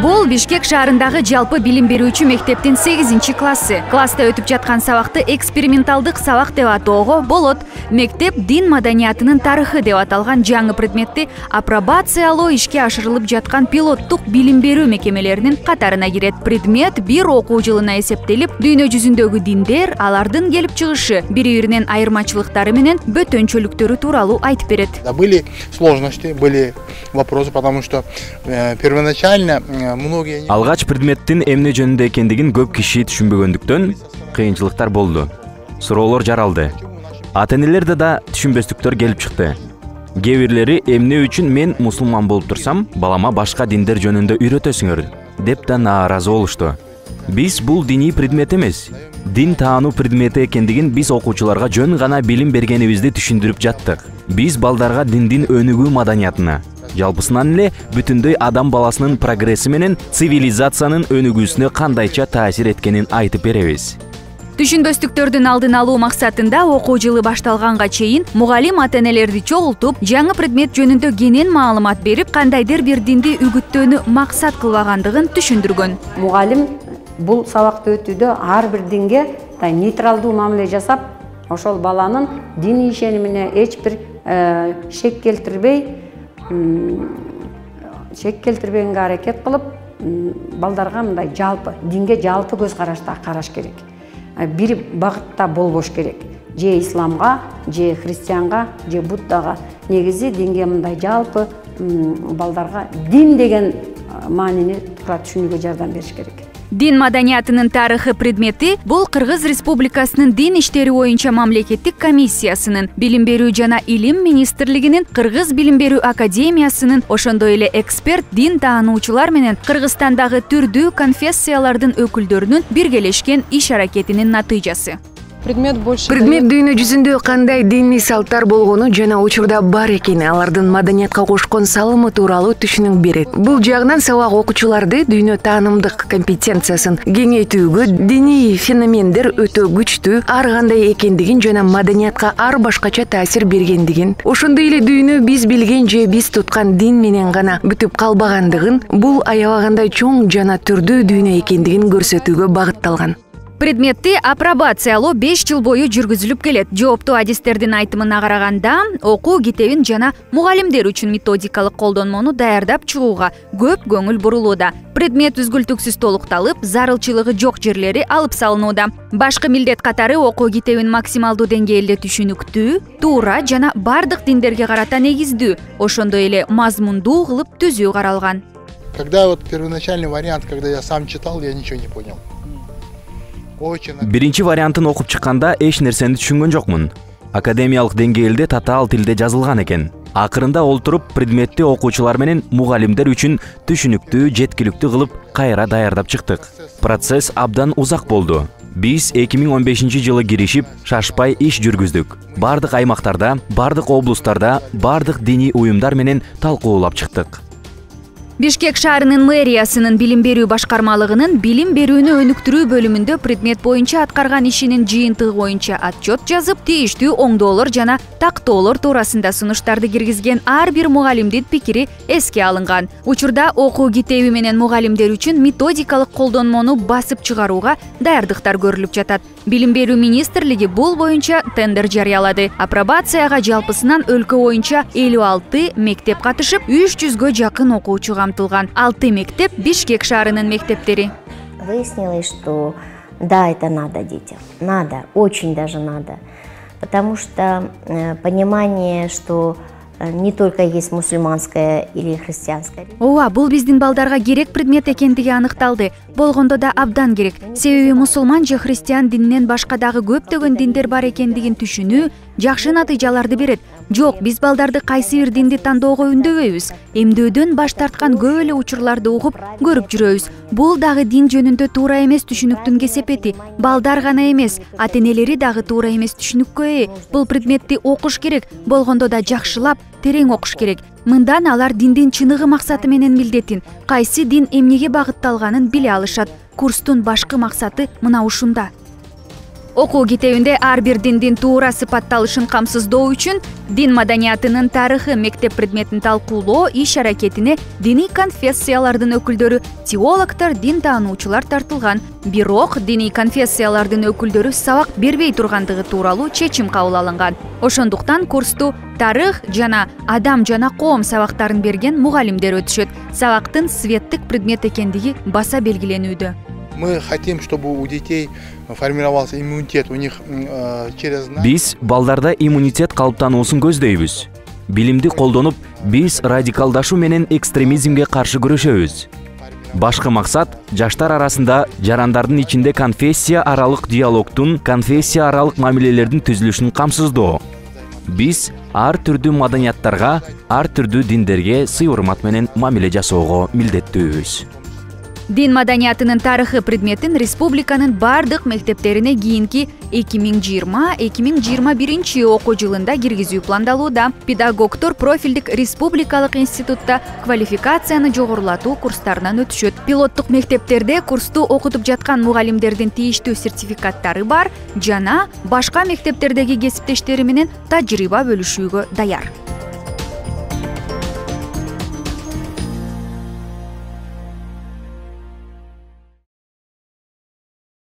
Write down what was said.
Бул Бишкек шаарындагы жалпы билим берүүчү мектептин 8-классы. Класста өтүп жаткан сабакты эксперименталдык сабак деп атоого болот. Мектеп дин маданиятынын тарыхы деп аталган жаңы предметти апробациялоо ишке ашырылып жаткан пилоттук билим берүү мекемелеринин катарына кирет. Предмет бир окуу жылына эсептелип, дүйнө жүзүндөгү диндер, алардын келип чыгышы, бири-биринен айырмачылыктары менен бөтөнчөлүктөрү тууралуу айтып берет. Были сложности, были вопросы, потому что первоначально алгач предметтин эмне жөнүндө экендигин көп киши түшүнбөгөндүктөн кыйынчылыктар болду. Суроолор жаралды. Ата-энелерде да түшүнбөстүктөр келип чыкты. Кээ бирлери эмне үчүн мен мусулман болуп турсам, балама башка диндер жөнүндө үйрөтөсүңөр деп да нааразы болушту. Биз бул диний предмет эмес, дин таануу предмети экендигин биз окуучуларга жөн гана билим бергенибизди түшүндүрүп жаттык. Биз балдарга диндин өнүгүү маданиятына, жалпысынан эле бүтүндөй адам баласынын прогресси менен цивилизациянын өнүгүүсүнө кандайча таасир эткенин айтып беребиз. Түшүнбөстүктөрдүн алдын алуу максатында окуу жылы башталганга чейин мугалим ата-энелерди чогултуп, жаңы предмет жөнүндө кенен маалымат берип, кандайдыр бир динди үгүттөөнү максат кылбагандыгын түшүндүргөн. Мугалим бул сабакты өтүүдө ар бир динге нейтралдуу мамиле жасап, ошол баланын диний ишенимине эч бир шек келтирбегенге аракет кылып, балдарга мындай жалпы динге жалпы көз карашта караш керек. Бир багытта болбош керек. Же исламга, же христианга, же буддага. Негизи динге мындай жалпы балдарга дин деген маанини туура түшүнүүгө жардам бериш керек. Дин маданиятынын тарыхы предмети бул Кыргыз Республикасынын дин иштери боюнча мамлекеттик комиссиясынын, билим берүү жана илим министрлигинин, Кыргыз билим берүү академиясынын, ошондой эле эксперт дин таануучулар менен Кыргызстандагы түрдүү конфессиялардын өкүлдөрүнүн биргелешкен иш аракетинин натыйжасы. Предмет дүйнө жүзүндө кандай диний салттар болгону жана учурда бар экени, алардын маданиятка кошкон салымы тууралуу түшүнүк берет. Бул жагынан сабак окуучуларды дүйнө таанымдык компетенциясын кеңейтүүгө, диний феномендер өтө күчтүү ар кандай экендигин жана маданиятка ар башкача таасир бергендигин, ошондой эле дүйнө биз билген же биз туткан дин менен гана бүтүп калбагандыгын, бул аябагандай чоң жана түрдүү дүйнө экендигин көрсөтүүгө багытталган. Предметти апробациялоо 5 жыл бою жүргүзүлүп келет. Жооптуу адистердин айтымына караганда, окуу китебин жана мугалимдер үчүн методикалык колдонмону даярдап чыгууга көп көңүл бурулууда. Предмет үзгүлтүксүз толукталып, зарылчылыгы жок жерлери алып салынууда. Башкы милдет катары окуу китебин максималдуу деңгээлде түшүнүктүү, туура жана бардык диндерге карата негиздүү, ошондой эле мазмундуу кылып түзүү каралган. Когда вот первоначальный вариант, когда я сам читал, я ничего не понял. Биринчи вариантын окуп чыкканда эч нерсени түшүнгөн жокмун. Академиялык деңгээлде татаал тилде жазылган экен. Акырында олтуруп предметти окуучулар менен мугалимдер үчүн түшүнүктүү, жеткиликтүү кылып кайра даярдап чыктык. Процесс абдан узак болду. Биз 2015 жылы киришип, шашпай иш жүргүздүк. Бардык аймактарда, бардык облустарда, бардык диний уюмдар менен талкуулап чыктык. Бишкек шаарынын мэриясынын билим берүү башкармалыгынын билим берүүнү өнүктүрүү бөлүмүндө предмет боюнча аткарган ишинин жыйынтыгы боюнча отчет жазып, тийиштүү оңдоолор жана тактоолор туурасында сунуштарды киргизген ар бир мугалимдин пикири эске алынган. Учурда окуу китеби менен мугалимдер үчүн методикалык колдонмону басып чыгарууга даярдыктар көрүлүп жатат. Билим берүү министрлиги бул боюнча тендер жарыялады. Апробацияга жалпысынан өлкө боюнча 56 мектеп катышып, 300гө жакын окуучу камтылган. 6 мектеп Бишкек шаарынын мектептери. Выяснилось, что да, это надо детям. Надо, очень даже надо. Потому что понимание, что не только есть мусульманская или христианская. Ооба, бул биздин балдарга керек предмет экендиги аныкталды. Болгондо да абдан керек. Себеби мусулман же христиан дининен башка дагы көптөгөн диндер бар экендигин түшүнүү жакшы натыйжаларды берет. Жок, биз балдарды кайсы бир динди тандоого үндөбөйбүз. Эмдөөдөн баш тарткан көп эле учурларды угуп, көрүп жүрөбүз. Бул дагы дин жөнүндө туура эмес түшүнүктүн кесепети. Балдар гана эмес, ата-энелери дагы туура эмес түшүнүккө ээ. Бул предметти окуш керек, болгондо да жакшылап, терең окуш керек. Мындан алар диндин чыныгы максаты менен милдетин, кайсы дин эмнеге багытталганын биле алышат. Курстун башкы максаты мына ушунда. Окуу китебинде ар бир диндин туура сыпатталышын камсыздоо үчүн дин маданиятынын тарыхы мектеп предметин талкуулоо иш-аракетине диний конфессиялардын өкүлдөрү, теологдор, дин таануучулар тартылган. Бирок диний конфессиялардын өкүлдөрү сабак бербей тургандыгы тууралуу чечим кабыл алынган. Ошондуктан курсту тарых жана адам жана коом сабактарын берген мугалимдер өтүшөт. Сабактын светтик предмет экендиги баса белгиленүүдө. Мы хотим, чтобы у детей формировался иммунитет, у них через... Биз балдарда иммунитет калыптануусун көздөйбүз. Билимди колдонуп, биз радикалдашуу менен экстремизмге каршы күрөшөбүз. Башкы максат жаштар арасында жарандардын ичинде конфессия аралык диалогтун, конфессия аралык мамилелердин түзүлүшүн камсыздоо. Биз ар түрдүү маданияттарга, ар түрдүү диндерге сый-урмат менен мамиле жасоого милдеттүүбүз. Дин маданиятынын тарыхы предметин республиканын бардык мектептерине кийинки 2020-2021 окуу жылында киргизүү пландалууда. Педагогдор профилдик республикалык институтта квалификацияны жогорулатуу курстарынан өтүшөт. Пилоттук мектептерде курсту окутуп жаткан мугалимдердин тийиштүү сертификаттары бар жана башка мектептердеги кесиптештери менен тажрыйба бөлүшүүгө даяр.